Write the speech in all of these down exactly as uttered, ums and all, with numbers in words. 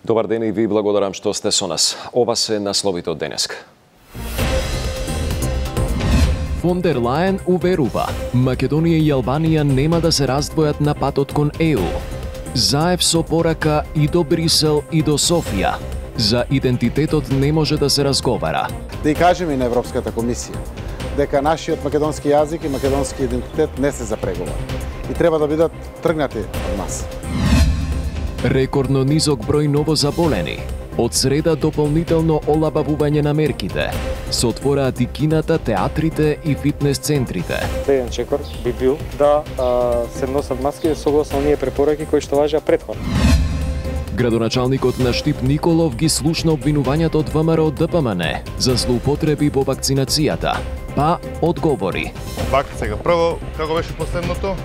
Добар ден и ви благодарам што сте со нас. Ова се насловите од денеска. Фон дер Лајен уверува, Македонија и Албанија нема да се раздвојат на патот кон Е У. Заев со порака и до Брисел и до Софија. За идентитетот не може да се разговара. Да и кажеме и на Европската комисија дека нашиот македонски јазик и македонски идентитет не се за преговор и треба да бидат тргнати од нас. Рекордно низок број новозаболени. Од среда дополнително олабавување на мерките. Се отвораат и кината, театрите и фитнес центрите. Следен чекор би бил да а, се носат маски согласно оние препораки кои што важеа претходно. Градоначалникот на Штип Николов ги слушна обвинувањата од Вэ Ем Р Д П М Н за злоупотреби во вакцинацијата. Па одговори. Пак сега прво, како беше последното?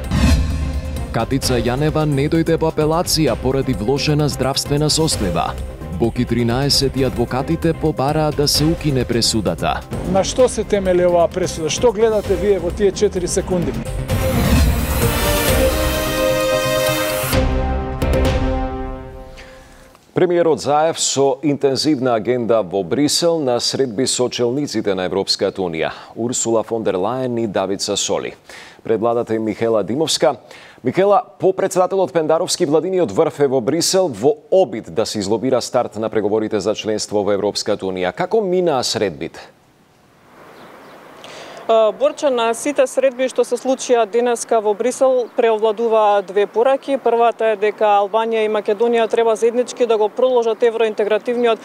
Катица Јанева не дојде во апелација поради влошена здравствена состојба. Боки тринаесет и адвокатите побараа да се укине пресудата. На што се темели оваа пресуда? Што гледате вие во тие четири секунди? Премиерот Заев со интензивна агенда во Брисел на средби со челниците на Европската Унија, Урсула фон дер Лајен и Давид Сасоли. Пред владата е Михела Димовска. Михела, по председателот Пендаровски владиниот врв е во Брисел во обид да се излобира старт на преговорите за членство во Европската Унија. Како минаа средбите? Борче, на сите средби што се случија денеска во Брисел преовладуваа две пораки. Првата е дека Албанија и Македонија треба заеднички да го продолжат евроинтегративниот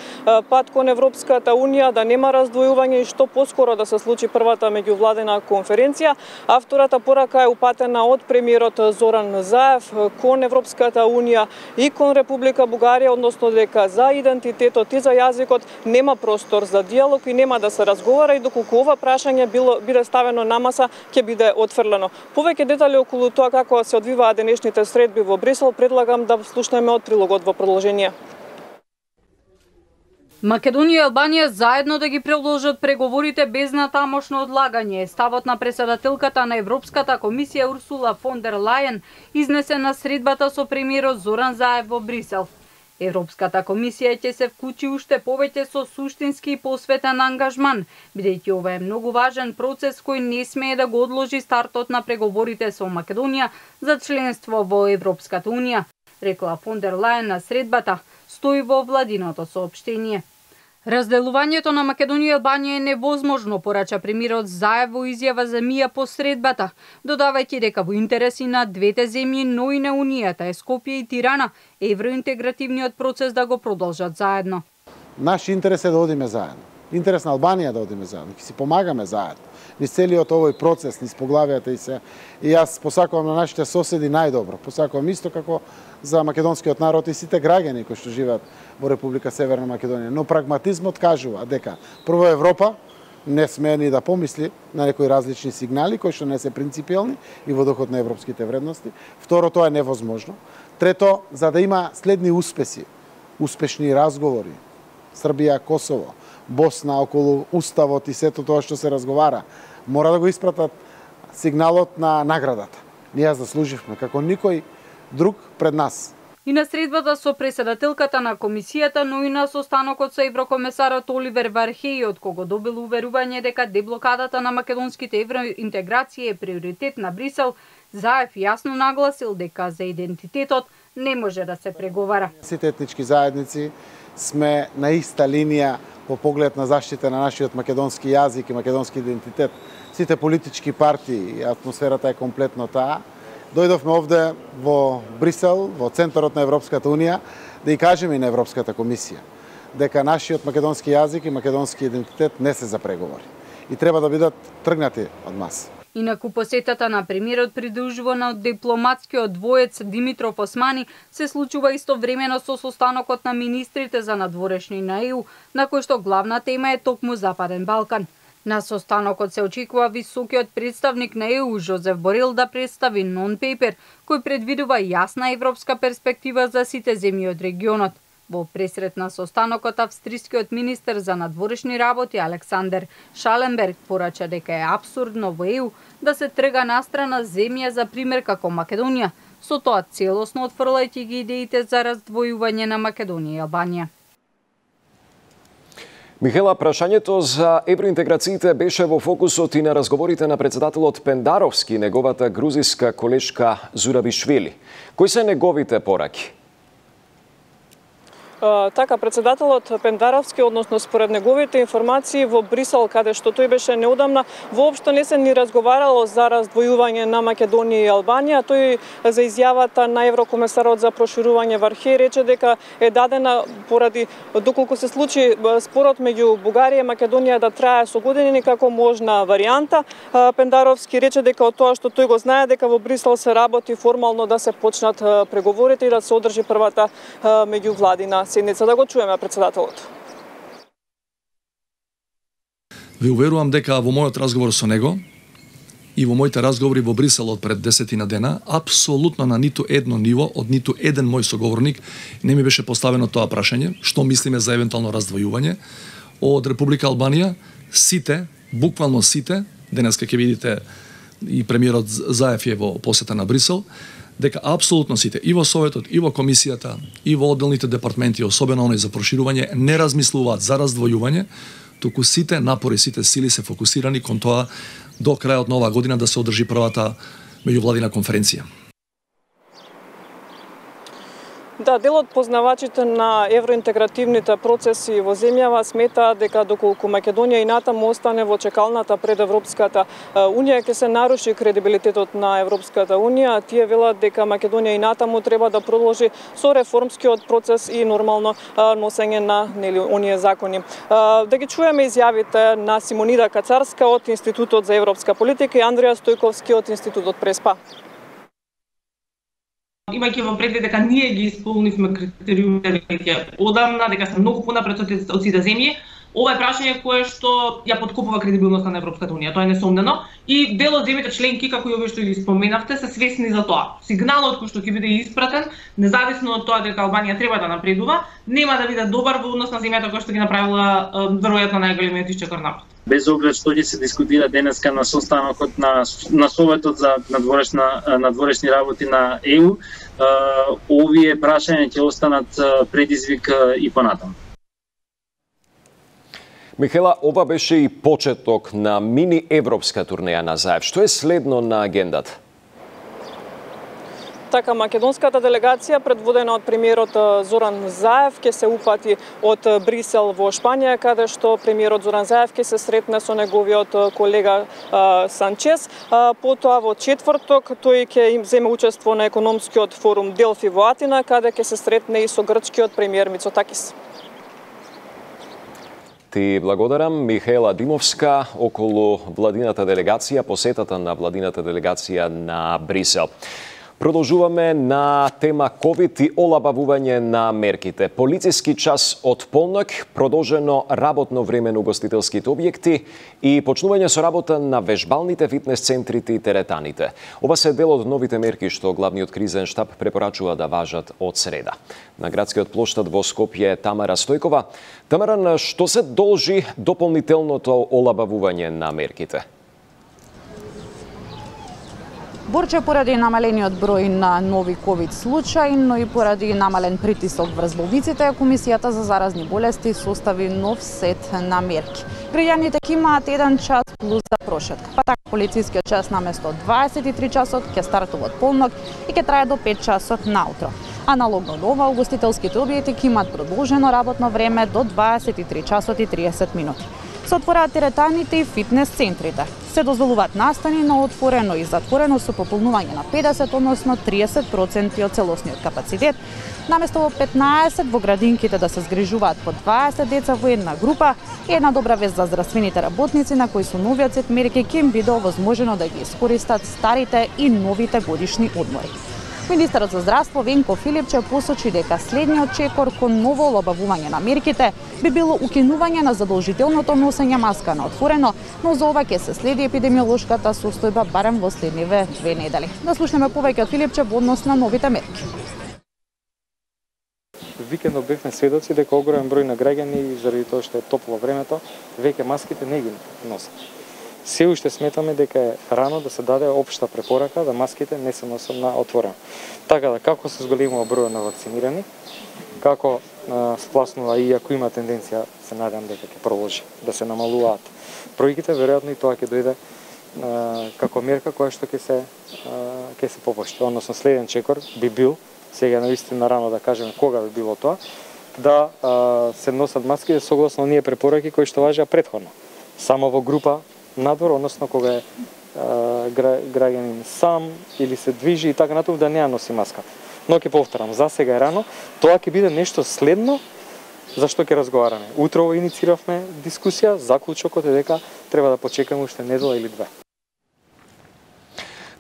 пат кон Европската Унија, да нема раздвојување и што поскоро да се случи првата меѓувладена конференција. А втората порака е упатена од премиерот Зоран Заев кон Европската Унија и кон Република Бугарија, односно дека за идентитетот и за јазикот нема простор за диалог и нема да се разговара и доколку ова прашање било биде ставено на маса, ќе биде отфрлено. Повеќе детали околу тоа како се одвиваат денешните средби во Брисел, предлагам да слушнеме од прилогот во продолжение. Македонија и Албанија заедно да ги продолжат преговорите без натамошно одлагање. Ставот на председателката на Европската комисија Урсула фон дер Лајен изнесе на средбата со премиерот Зоран Заев во Брисел. Европската комисија ќе се вклучи уште повеќе со суштински и посветен ангажман, бидејќи ова е многу важен процес кој не смее да го одложи стартот на преговорите со Македонија за членство во Европската Унија, рекла фон дер Лајен на средбата, стои во владиното соопштение. Разделувањето на Македонија и Албанија е невозможно, порача премиерот Заев во изјава за мија по средбата, додавајќи дека во интереси на двете земји, но и на Унијата е Скопје и Тирана, евроинтегративниот процес да го продолжат заедно. Наш интерес е да одиме заедно. Интерес на Албанија да одиме заедно, ќе си помагаме заедно. Низ целиот овој процес, низ поглавијата и се. И јас посакувам на нашите соседи најдобро. Посакувам исто како за македонскиот народ и сите граѓани кои што живеат во Република Северна Македонија. Но прагматизмот кажува дека прво Европа не смее ни да помисли на некои различни сигнали кои што не се принципиелни и во духот на европските вредности. Второ, тоа е невозможно. Трето, за да има следни успеси, успешни разговори, Србија, Косово, Босна околу уставот и сето тоа што се разговара, мора да го испратат сигналот на наградата. Ние заслуживме како никој друг пред нас. И на средбата со председателката на комисијата, но и на состанокот со еврокомесарот Оливер Вархеј, од кого добил уверување дека деблокадата на македонските евроинтеграции е приоритет на Брисел, Заев јасно нагласил дека за идентитетот не може да се преговара. Сите етнички заедници сме на иста линија по поглед на заштита на нашиот македонски јазик и македонски идентитет. Сите политички партии, атмосферата е комплетно таа. Дојдовме овде во Брисел, во центарот на Европската Унија, да и кажеме и на Европската комисија дека нашиот македонски јазик и македонски идентитет не се за преговори и треба да бидат тргнати од нас. Инаку посетата на премиерот придружувана од дипломатскиот двоец Димитров Османи се случува истовремено со состанокот на министрите за надворешни на Е У, на кој што главна тема е токму Западен Балкан. На состанокот се очекува високиот представник на Е У Жозеф Борел да представи нон-пейпер кој предвидува јасна европска перспектива за сите земји од регионот. Во пресрет на состанокот, австрискиот министер за надворешни работи Александер Шаленберг порача дека е апсурдно во Е У да се трга настрана земја за пример како Македонија, со тоа целосно отфрлајќи ги идеите за раздвојување на Македонија и Албанија. Михела, прашањето за евроинтеграциите беше во фокусот и на разговорите на председателот Пендаровски и неговата грузиска колешка Зурабишвили. Кои се неговите пораки? Така, председателот Пендаровски, односно според неговите информации во Брисел, каде што тој беше неодамна, воопшто не се ни разговарало за раздвојување на Македонија и Албанија. Тој за изјавата на еврокомесарот за проширување Вархеј рече дека е дадена поради доколку се случи спорот меѓу Бугарија и Македонија да трае со години како можна варијанта. Пендаровски рече дека од тоа што тој го знае дека во Брисел се работи формално да се почнат преговорите и да се одржи првата меѓувладина седница. Да го чуеме председателот. Ви уверувам дека во мојот разговор со него и во моите разговори во Брисел од пред десетина дена, апсолутно на ниту едно ниво, од ниту еден мој соговорник не ми беше поставено тоа прашање, што мислиме за евентуално раздвојување. Од Република Албанија, сите, буквално сите, денеска ќе видите и премиерот Заев е во посета на Брисел, дека апсолутно сите, и во Советот, и во Комисијата, и во одделните департменти, особено оној за проширување, не размислуваат за раздвојување, туку сите напори, сите сили се фокусирани кон тоа до крајот на оваа година да се одржи првата меѓувладина конференција. Да, дел од познавачите на евроинтегративните процеси во земјава сметаат дека доколку Македонија и натаму остане во чекалната пред Европската Унија, ќе се наруши кредибилитетот на Европската Унија. Тие велат дека Македонија и натаму треба да продолжи со реформскиот процес и нормално носење на нели оние закони. Да ги чуеме изјавите на Симонида Кацарска од Институтот за европска политика и Андреја Стојковски од Институтот Преспа. Имајќи во предвид дека ние ги исполнивме критериумите веќе одамна, дека сме многу понапред од сите земји, ова е прашање кое што ја подкопува кредибилноста на Европската Унија, тоа е несомнено, и дел од земјите членки, како и овие што ги споменавте, се свесни за тоа. Сигналот кој што ќе биде испратен, независно од тоа дека Албанија треба да напредува, нема да биде добар во однос на земјата која што ги направила веројатно најголемиот исчекор напред. Без оглед што ќе се дискутира денеска на состанокот на на Советот за надворешна надворешни работи на Е У, овие прашања ќе останат предизвик и понатаму. Михела, ова беше и почеток на мини европска турнеја на Заев. Што е следно на агендата? Така, македонската делегација, предводена од премиерот Зоран Заев, ќе се упати од Брисел во Шпанија, каде што премиерот Зоран Заев ќе се сретне со неговиот колега Санчес. Потоа во четврток тој ќе им земе учество на економскиот форум Делфи во Атина, каде ќе се сретне и со грчкиот премиер Мицотакис. Ти благодарам, Михела Димовска, околу владината делегација, посетата на владината делегација на Брисел. Продолжуваме на тема ковид и олабавување на мерките. Полициски час од полнок, продолжено работно време на угостителските објекти и почнување со работа на вежбалните фитнес центрите и теретаните. Ова се дел од новите мерки што главниот кризен штаб препорачува да важат од среда. На градскиот плоштад во Скопје е Тамара Стојкова. Тамара, на што се должи дополнителното олабавување на мерките? Борче поради намалениот број на нови ковид случаи, но и поради намален притисок врз болниците, Комисијата за заразни болести состави нов сет на мерки. Граѓаните ќе имаат еден час плюс за прошетка. Па така полицискиот час наместо дваесет и три часот ќе стартува од полнок и ќе трае до пет часот наутро. Аналогно до ова, угостителските објекти ќе имаат продолжено работно време до дваесет и три часот и триесет минути. Се отвораат теретаните и фитнес центрите. Се дозволуваат настани на отворено и затворено со пополнување на педесет, односно триесет проценти од целосниот капацитет. Наместо во петнаесет во градинките да се згрижуваат по дваесет деца во една група, и една добра вест за здравствените работници на кои со новиот сет мерки ќе им биде овозможено да ги искористат старите и новите годишни одмори. Министерот за здравство Венко Филипче посочи дека следниот чекор кон ново олабавување на мерките би било укинување на задолжителното носење маска на отворено, но за ова ќе се следи епидемиолошката состојба барем во следниве две недели. Да слушнеме повеќе од Филипче во однос на новите мерки. Викендот бевме сведоци дека огромен број на граѓани заради тоа што е топло времето, веќе маските не ги носат. се уште сметаме дека е рано да се даде општа препорака да маските не се носат на отворено. Така да како се зголемува бројот на вакцинирани, како а, спласнува и ако има тенденција, се надам дека ќе продолжи да се намалуваат бројките, веројатно и тоа ќе дојде а, како мерка која што ќе се а, ќе се попушти. Односно следен чекор би бил, сега навистина рано да кажеме кога би било тоа, да а, се носат маски согласно оние препораки кои што важеа претходно. Само во група надвор, односно кога е а, граѓанин сам или се движи и така натаму да не ја носи маска. Но ќе повторам, за сега е рано, тоа ќе биде нешто следно за што ќе разговараме. Утрово иницииравме дискусија, заклучокот е дека треба да почекаме уште недела или две.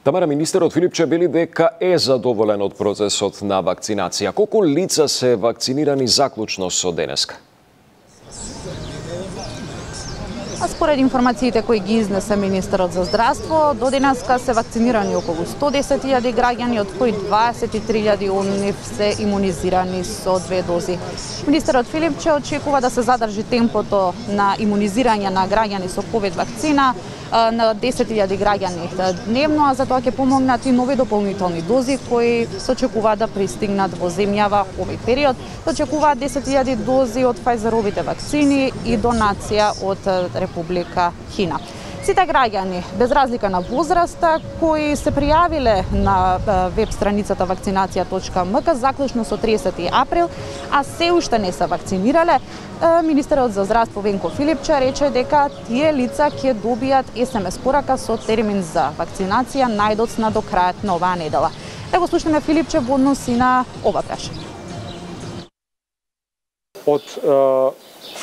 Тамара, министерот Филипче вели дека е задоволен од процесот на вакцинација. Колку лица се вакцинирани заклучно со денеска? А според информациите кои ги изнесе министерот за здравство, до денеска се вакцинирани околу сто десет илјади граѓани, од кои дваесет и три илјади од нив се имунизирани со две дози. Министерот Филипче очекува да се задржи темпото на имунизирање на граѓани со ковид вакцина на десет илјади граѓани дневно, а за тоа ќе помогнат и нови дополнителни дози кои се очекуваат да пристигнат во земјава овој период. Се очекуваат десет илјади дози од Фајзеровите вакцини и донација од Република Кина. Сите граѓани, без разлика на возраста, кои се пријавиле на веб страницата вакцинација точка ем ка заклучно со триесети април, а се уште не се вакцинирале, министерот за здравство Венко Филипче рече дека тие лица ќе добијат ес ем ес порака со термин за вакцинација најдоцна до крајот на оваа недела. Да го слушнеме Филипче во однос и на ова прашање. Од е,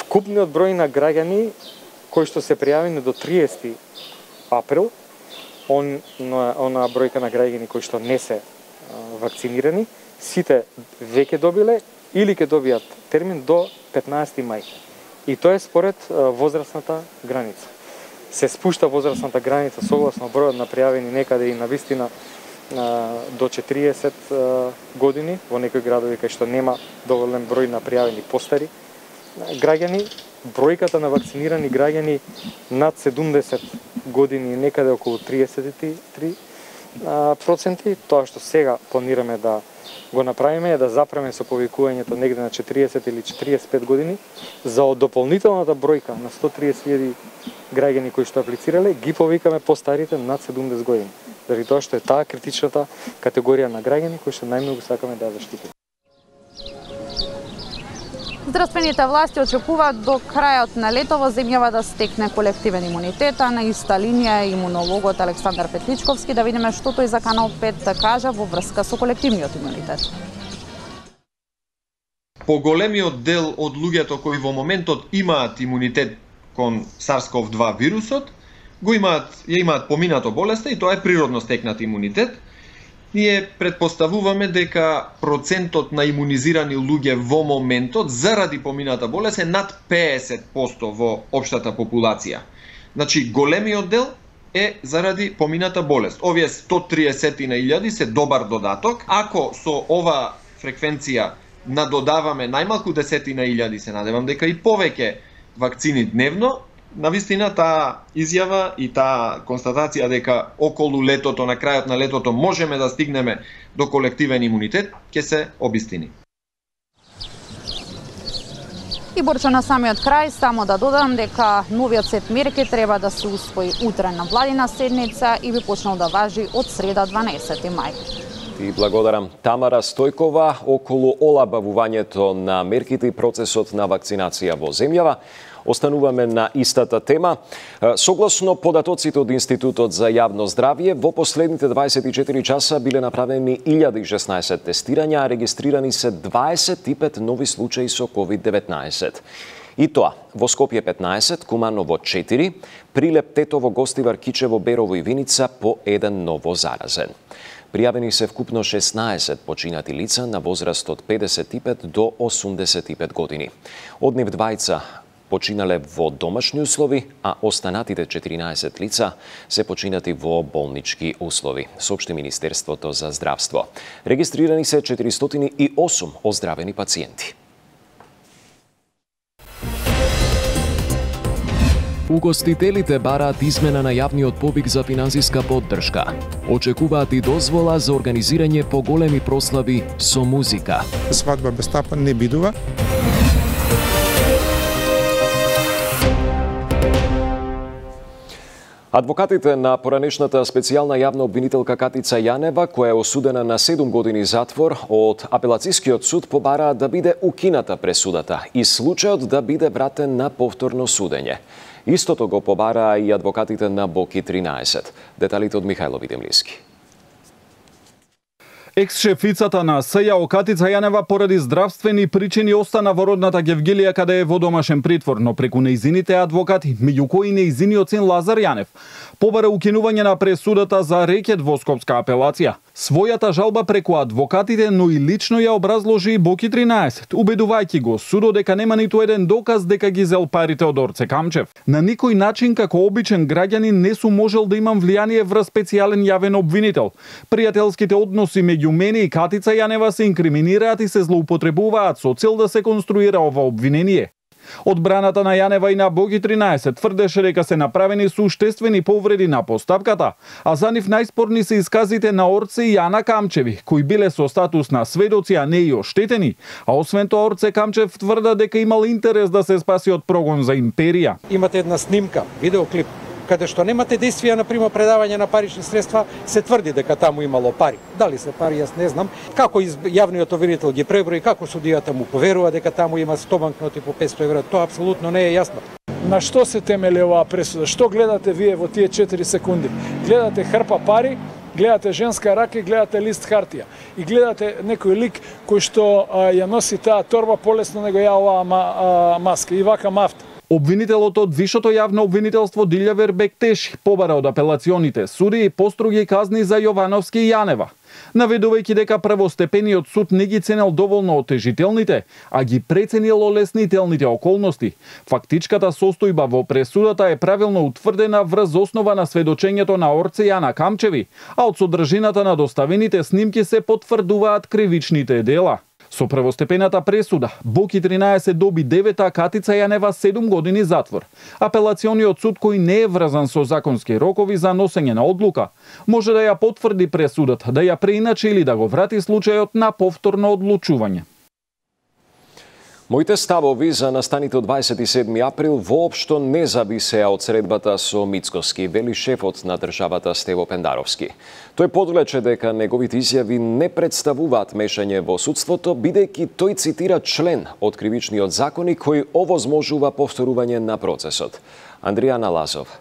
вкупниот број на граѓани кои што се пријавени до триесети април, он, она бројка на граѓани кои што не се а, вакцинирани, сите веќе добиле или ќе добијат термин до петнаесети мај. И тоа е според а, возрастната граница. Се спушта возрастната граница согласно бројот на пријавени некаде и навистина а, до четириесет а, години, во некои градови кај што нема доволен број на пријавени постари граѓани. Бројката на вакцинирани граѓани над седумдесет години некаде околу триесет и три проценти. Тоа што сега планираме да го направиме е да запреме со повикувањето негде на четириесет или четириесет и пет години за од дополнителната бројка на сто триесет илјади граѓани кои што аплицирале, ги повикаме постарите над седумдесет години. Заради тоа што е таа критичната категорија на граѓани кои што најмногу сакаме да ја заштитиме. Здравствените власти очекуваат до крајот на лето во земјава да стекне колективен имунитет, а на иста линија е имунологот Александар Петличковски. Да видиме што тој за Канал пет кажа во врска со колективниот имунитет. Поголемиот дел од луѓето кои во моментот имаат имунитет кон SARS-ков два вирусот, го имаат, ја имаат поминато болеста и тоа е природно стекнат имунитет. Ние предпоставуваме дека процентот на имунизирани луѓе во моментот заради помината болест е над петдесет проценти во општата популација. Значи, големиот дел е заради помината болест. Овие сто триесет на илјади се добар додаток. Ако со ова фреквенција надодаваме најмалку десетина илјади, се надевам дека и повеќе вакцини дневно, навистина таа изјава и таа констатација дека околу летото, на крајот на летото можеме да стигнеме до колективен имунитет, ќе се обистини. И Борчо, на самиот крај, само да додам дека новиот сет мерки треба да се усвои утре на владина седница и би почнал да важи од среда дванаесети мај. И благодарам Тамара Стојкова околу олабавувањето на мерките и процесот на вакцинација во земјава. Остануваме на истата тема. Согласно податоците од Институтот за јавно здравје, во последните дваесет и четири часа биле направени илјада и шеснаесет тестирања, а регистрирани се дваесет и пет нови случаи со ковид деветнаесет. И тоа, во Скопје петнаесет, Куманово четири, Прилеп, Тетово, Гостивар, Кичево, Берово и Виница по еден ново заразен. Пријавени се вкупно шеснаесет починати лица на возраст од педесет и пет до осумдесет и пет години. Од нив двајца починале во домашни услови, а останатите четиринаесет лица се починати во болнички услови, соопшти Министерството за здравство. Регистрирани се четиристотини и осум оздравени пациенти. Угостителите бараат измена на јавниот повик за финансиска поддршка. Очекуваат и дозвола за организирање поголеми прослави со музика. Свадба без тапа не бидува. Адвокатите на поранешната специјална јавна обвинителка Катица Јанева, која е осудена на седум години затвор, од апелацискиот суд побараат да биде укината пресудата и случајот да биде вратен на повторно судење. Истото го побараа и адвокатите на Боки тринаесет. Деталите од Михајло Видемлиски. Екс-шефицата на СЈО Катица Јанева поради здравствени причини остана во родната Гевгилија каде е во домашен притвор, но преку нејзините адвокати, меѓу кои нејзиниот син Лазар Јанев, побара укинување на пресудата за рекет во Скопска апелација. Својата жалба преку адвокатите, но и лично ја образложи Боки тринаесет, убедувајќи го судот дека нема ниту еден доказ дека ги зел парите од Орце Камчев. На никој начин како обичен граѓанин не сум можел да имам влијание врз специјален јавен обвинител. Пријателските односи меѓу мене и Катица Јанева се инкриминираат и се злоупотребуваат со цел да се конструира ова обвинение. Одбраната на Јанева и на Боки тринаесет тврдеше дека се направени суштествени повреди на постапката, а за нив најспорни се исказите на Орце и Јана Камчеви, кои биле со статус на сведоци, а не и оштетени, а освен тоа Орце Камчев тврда дека имал интерес да се спаси од прогон за империја. Имате една снимка, видеоклип, каде што немате действија, например, предавање на парични средства, се тврди дека таму имало пари. Дали се пари, јас не знам. Како јавниот обвинител ги преброи, како судијата му поверува дека таму има сто банкноти по петсто евра, тоа апсолутно не е јасно. На што се темели оваа пресуда? Што гледате вие во тие четири секунди? Гледате хрпа пари, гледате женска рака, гледате лист хартија и гледате некој лик кој што а, ја носи таа торба полесно него ја оваа а, маска и вака мафта. Обвинителот од Вишото јавно обвинителство Дилјавер Бектеши побара од апелационите суди и построги казни за Јовановски и Јанева, наведувајќи дека првостепениот суд не ги ценел доволно отежителните, а ги преценил олеснителните околности. Фактичката состојба во пресудата е правилно утврдена врз основа на сведочењето на Орце Јана Камчеви, а од содржината на доставените снимки се потврдуваат кривичните дела. Со првостепената пресуда, Боки тринаесет доби девет, а Катица Јанева седум години затвор. Апелациониот суд, кој не е врзан со законски рокови за носење на одлука, може да ја потврди пресудата, да ја преиначи или да го врати случајот на повторно одлучување. Моите ставови за настаните од дваесет и седми април воопшто не зависеа од средбата со Мицкоски, вели шефот на државата Стево Пендаровски. Тој подлече дека неговите изјави не представуваат мешање во судството, бидејќи тој цитира член од кривичниот законник кој овозможува повторување на процесот. Андријана Лазов.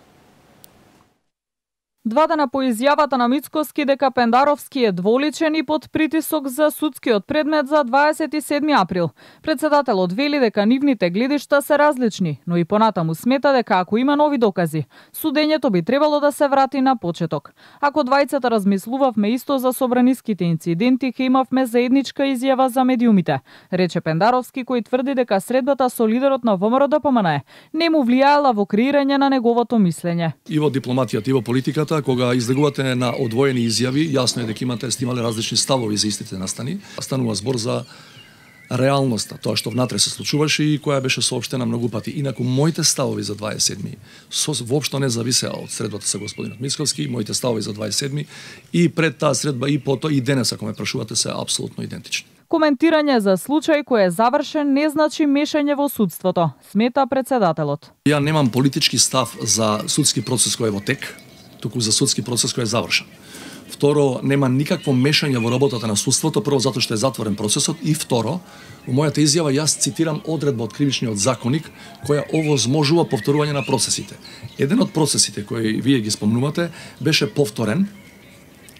Два дена по изјавата на Мицкоски дека Пендаровски е дволичен и под притисок за судскиот предмет за дваесет и седми април, председателот вели дека нивните гледишта се различни, но и понатаму смета дека ако има нови докази, судењето би требало да се врати на почеток. Ако двајцата размислувавме исто за собраниските инциденти, ке имавме заедничка изјава за медиумите, рече Пендаровски, кој тврди дека средбата со лидерот на ВМРО Д П М Н не му влијаела во креирање на неговото мислење. И во дипломатијата, и во политиката, кога излегувате на одвоени изјави, јасно е дека имате стимале различни ставови за истите настани. Станува збор за реалноста, тоа што внатре се случуваше и која беше соопштена многу пати. Инаку моите ставови за дваесет и седми со воопшто не зависеа од средбата со господинот Мицковски, моите ставови за дваесет и седми и пред таа средба и потоа и денес, ако ме прашувате, се апсолутно идентични. Коментирање за случај кој е завршен не значи мешање во судството, смета председателот. Ја немам политички став за судски процес кој е во тек, туку за судски процес кој е завршен. Второ, нема никакво мешање во работата на судството, прво затоа што е затворен процесот и второ, во мојата изјава јас цитирам одредба од кривичниот законник која овозможува повторување на процесите. Еден од процесите кои вие ги спомнувате беше повторен,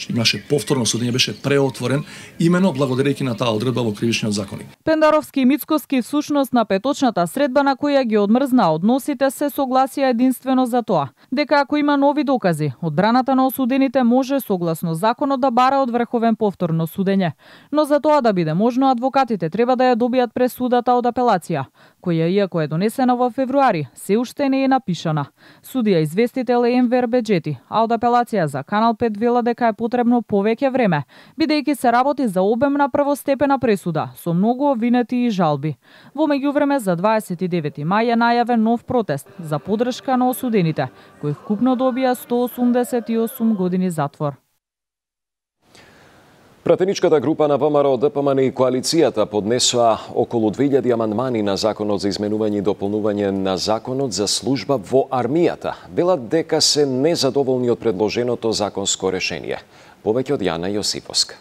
имаше повторно судење, беше преотворен имено благодарејќи на таа одредба во кривичниот законник. Пендаровски и Мицкоски всушност на петочната средба на која ги одмрзна односите се согласија единствено за тоа, дека ако има нови докази, одбраната на осудените може согласно законот да бара од врховен повторно судење, но за тоа да биде можно адвокатите треба да ја добијат пресудата од апелација. која иако е донесена во февруари, се уште не е напишана. Судија известител Енвер Беџети, а од апелација за Канал пет вела дека е потребно повеќе време, бидејќи се работи за обемна првостепена пресуда со многу обвинети и жалби. Во меѓувреме за дваесет и девети мај е најавен нов протест за поддршка на осудените, кои вкупно добија сто осумдесет и осум години затвор. Пратеничката група на ВМРО, ДПМН и коалицијата поднесоа околу две илјади амандмани на Законот за изменување и дополнување на Законот за служба во армијата. Велат дека се незадоволни од предложеното законско решение. Повеќе од Јана Јосифовска.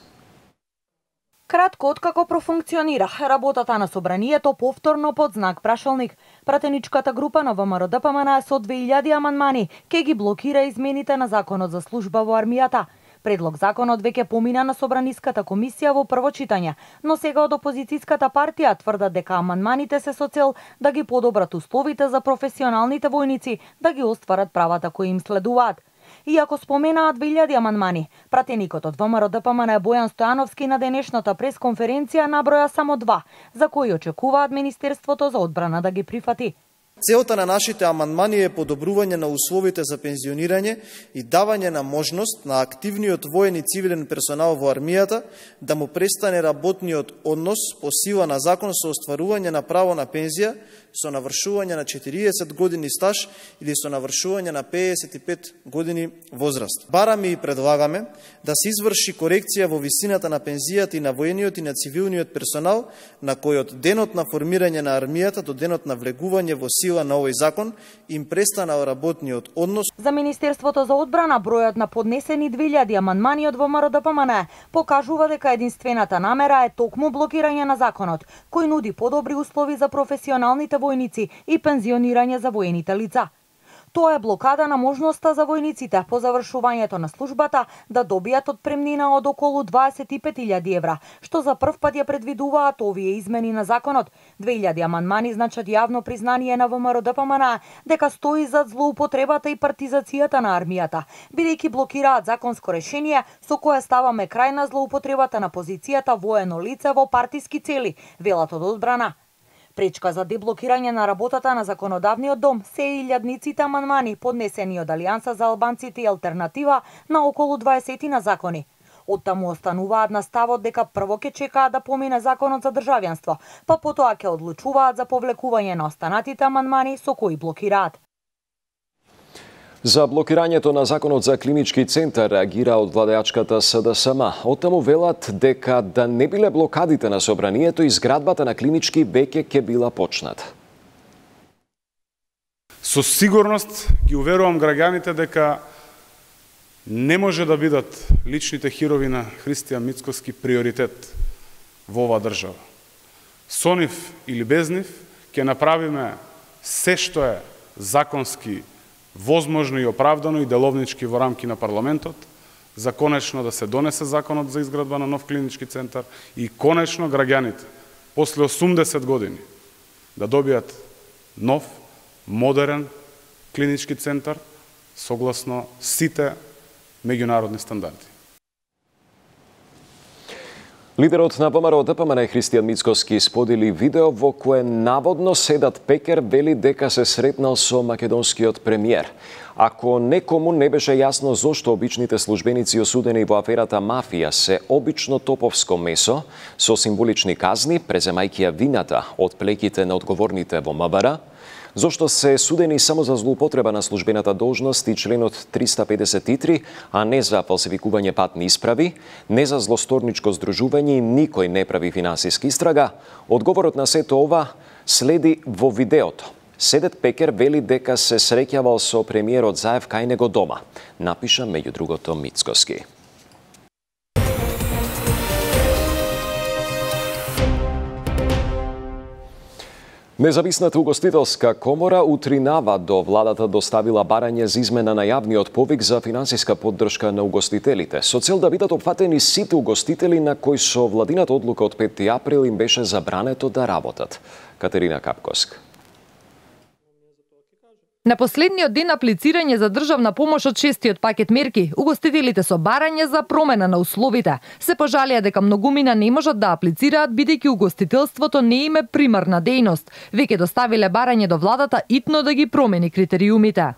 Кратко откако профункционира работата на собранието повторно под знак прашалник, пратеничката група на ВМРО ДПМН со две илјади амандмани ке ги блокира измените на Законот за служба во армијата. Предлог законот веќе помина на Собраниската комисија во прво читање, но сега од опозицијската партија тврдат дека амандманите се со цел да ги подобрат условите за професионалните војници да ги остварат правата кои им следуваат. Иако споменаат две илјади амандмани, пратеникот од ВМРО ДПМН Бојан Стојановски на денешната пресконференција наброја само два, за кои очекуваат Министерството за одбрана да ги прифати. Целта на нашите амандмани е подобрување на условите за пензионирање и давање на можност на активниот воен и цивилен персонал во армијата да му престане работниот однос по сила на закон со остварување на право на пензија со навршување на четириесет години стаж или со навршување на пеесет и пет години возраст. Бараме и предлагаме да се изврши корекција во висината на пензијата и на воениот и на цивилниот персонал на кој од денот на формирање на армијата до денот на влегување во сила на овој закон им престанал работниот однос. За Министерството за одбрана бројот на поднесени две илјади амандмани од ВМРО ДПМН покажува дека единствената намера е токму блокирање на законот, кој нуди подобри услови за професионалните војници и пензионирање за воените лица. Тоа е блокада на можноста за војниците по завршувањето на службата да добијат отпремнина од околу дваесет и пет илјади евра, што за прв пат ја предвидуваат овие измени на законот. две илјади амандмани значат јавно признание на ВМРО ДПМН дека стои зад злоупотребата и партизацијата на армијата, бидејќи блокираат законско решение со кое ставаме крај на злоупотребата на позицијата воено лице во партиски цели, велат од одбрана. Пречка за деблокирање на работата на законодавниот дом се илјадниците амандмани поднесени од Алијанса за албанците и Алтернатива на околу дваесет на закони. Оттаму остануваат на ставот дека прво ќе чекаат да помине законот за државјанство, па потоа ќе одлучуваат за повлекување на останатите амандмани со кои блокираат. За блокирањето на Законот за клинички центар реагира од владеачката СДСМ. Оттаму велат дека да не биле блокадите на собранието, изградбата на клинички веќе ќе била почната. Со сигурност ги уверувам граѓаните дека не може да бидат личните хирови на Христијан Мицкоски приоритет во оваа држава. Со нив или без нив ќе направиме се што е законски возможно и оправдано и деловнички во рамки на парламентот, за конечно да се донесе законот за изградба на нов клинички центар и конечно граѓаните после осумдесет години да добијат нов, модерен клинички центар согласно сите меѓународни стандарди. Лидерот на ВМРО ДПМН Христијан Мицкоски сподели видео во кое наводно Седат Пекер вели дека се сретнал со македонскиот премиер. Ако некому не беше јасно зошто обичните службеници осудени во аферата мафија се обично топовско месо со символични казни, преземајќи ја вината од плеките на одговорните во МВР, зошто се судени само за злоупотреба на службената должност и членот триста педесет и три, а не за фалсификување патни исправи, не за злосторничко здружување и никој не прави финансиска истрага, одговорот на сето ова следи во видеото. Седет Пекер вели дека се среќавал со премиерот Заев кај него дома, напиша меѓу другото Мицкоски. Независната угостителска комора утринава до владата доставила барање за измена на јавниот повик за финансиска поддршка на угостителите, со цел да бидат опфатени сите угостители на кои со владината одлука од пети април им беше забрането да работат. Катерина Капкоск. На последниот ден аплицирање за државна помош од шестиот пакет мерки, угостителите со барање за промена на условите се пожалија дека многумина не можат да аплицираат бидејќи угостителството не им е примарна дејност. Веќе доставиле барање до владата итно да ги промени критериумите.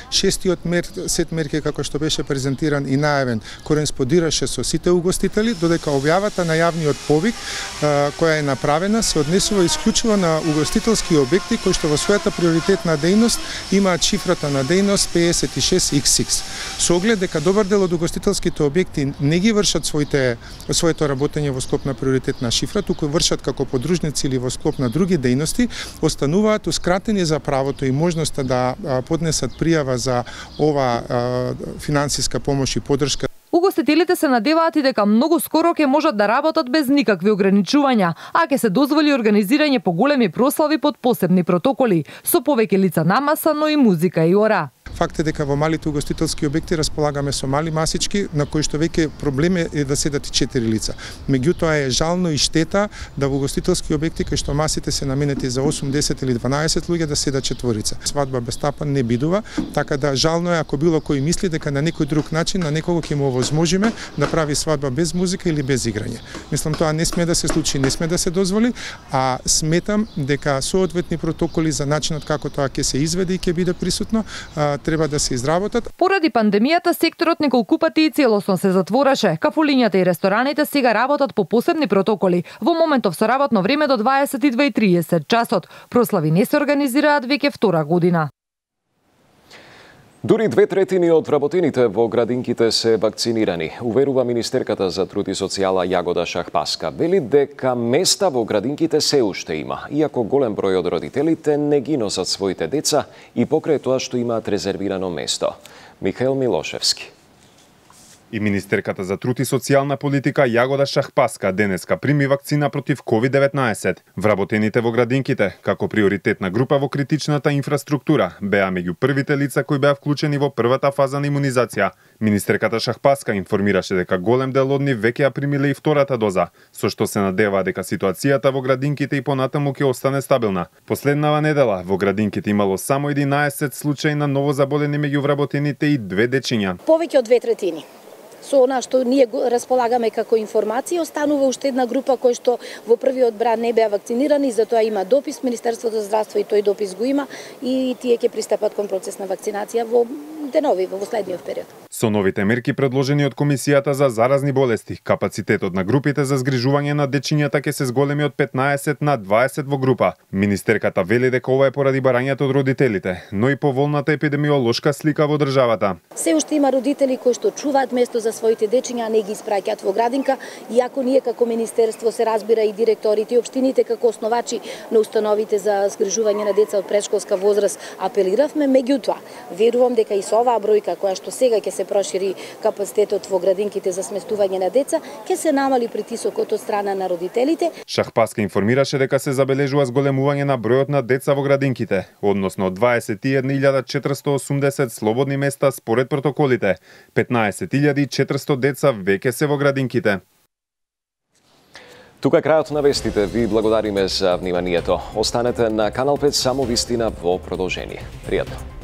Шестиот мер, сет мерки како што беше презентиран и најавен кореспондираше со сите угостители, додека објавата на јавниот повик а, која е направена се однесува исклучиво на угостителски објекти кои што во својата приоритетна дејност имаат шифрата на дејност петдесет и шест икс икс. Со оглед дека добар дел од угостителските објекти не ги вршат своите своето работење во склоп на приоритетна шифра, туку вршат како подружници или во склоп на други дејности, остануваат ускратени за правото и можноста да а, поднесат пријава за ова а, финансиска помош и поддршка. Угостителите се надеваат и дека многу скоро ќе можат да работат без никакви ограничувања, а ќе се дозволи организирање поголеми прослави под посебни протоколи, со повеќе лица на маса, но и музика и ора. Факт е дека во малите угостителски објекти располагаме со мали масички на кои што веќе проблем е да седат и четири лица. Меѓутоа е жално и штета да во угостителски објекти кај што масите се наменети за осум, десет или дванаесет луѓе да седат четворица. Свадба без тапан не бидува, така да жално е ако било кој мисли дека на некој друг начин на некого ќе му овозможиме да прави свадба без музика или без играње. Мислам тоа не сме да се случи, не сме да се дозволи, а сметам дека соодветни протоколи за начинот како тоа ќе се изведе и ќе биде присутно треба да се изработат. Поради пандемијата секторот неколку пати и целосно се затвораше. Кафулињата и рестораните сега работат по посебни протоколи. Во моментов со работно време до дваесет и две и триесет часот. Прослави не се организираат веќе втора година. Дури две третини од вработените во градинките се вакцинирани, уверува министерката за труд и социјала Јагода Шахпаска. Вели дека места во градинките се уште има, иако голем број од родителите не ги носат своите деца и покрај тоа што имаат резервирано место. Михаил Милошевски. И министерката за труд и социјална политика Јагода Шахпаска денеска прими вакцина против ковид деветнаесет. Вработените во градинките, како приоритетна група во критичната инфраструктура, беа меѓу првите лица кои беа вклучени во првата фаза на имунизација. Министерката Шахпаска информираше дека голем дел од нив веќе ја примиле и втората доза, со што се надеваа дека ситуацијата во градинките и понатаму ќе остане стабилна. Последнава недела во градинките имало само единаесет случаи на новозаболени меѓу вработените и две дечиња. Повеќе од две третини. Со она што ние располагаме како информација, останува уште една група кој што во првиот бран не беа вакцинирани, затоа има допис, Министерството за здравство и тој допис го има и тие ќе пристапат кон процес на вакцинација во денови, во следниот период. Со новите мерки предложени од Комисијата за заразни болести, капацитетот на групите за згрижување на дечињата ќе се зголеми од петнаесет на дваесет во група. Министерката вели дека ова е поради барањето од родителите, но и поволната епидемиолошка слика во државата. Се уште има родители кои што чуваат место за своите дечиња, не ги испраќаат во градинка, иако ние како министерство се разбира и директорите и општините како основачи на установите за згрижување на деца од претшколска возраст апелиравме, меѓутоа верувам дека и со оваа бројка која што сега ќе се прошири капацитетот во градинките за сместување на деца, ќе се намали притисокот од страна на родителите. Шахпаска информираше дека се забележува зголемување на бројот на деца во градинките, односно дваесет и една илјада четиристотини и осумдесет слободни места според протоколите. петнаесет илјади четиристотини деца веќе се во градинките. Тука крајот на вестите. Ви благодариме за вниманието. Останете на Канал пет, само вистина во продолжение. Пријатно.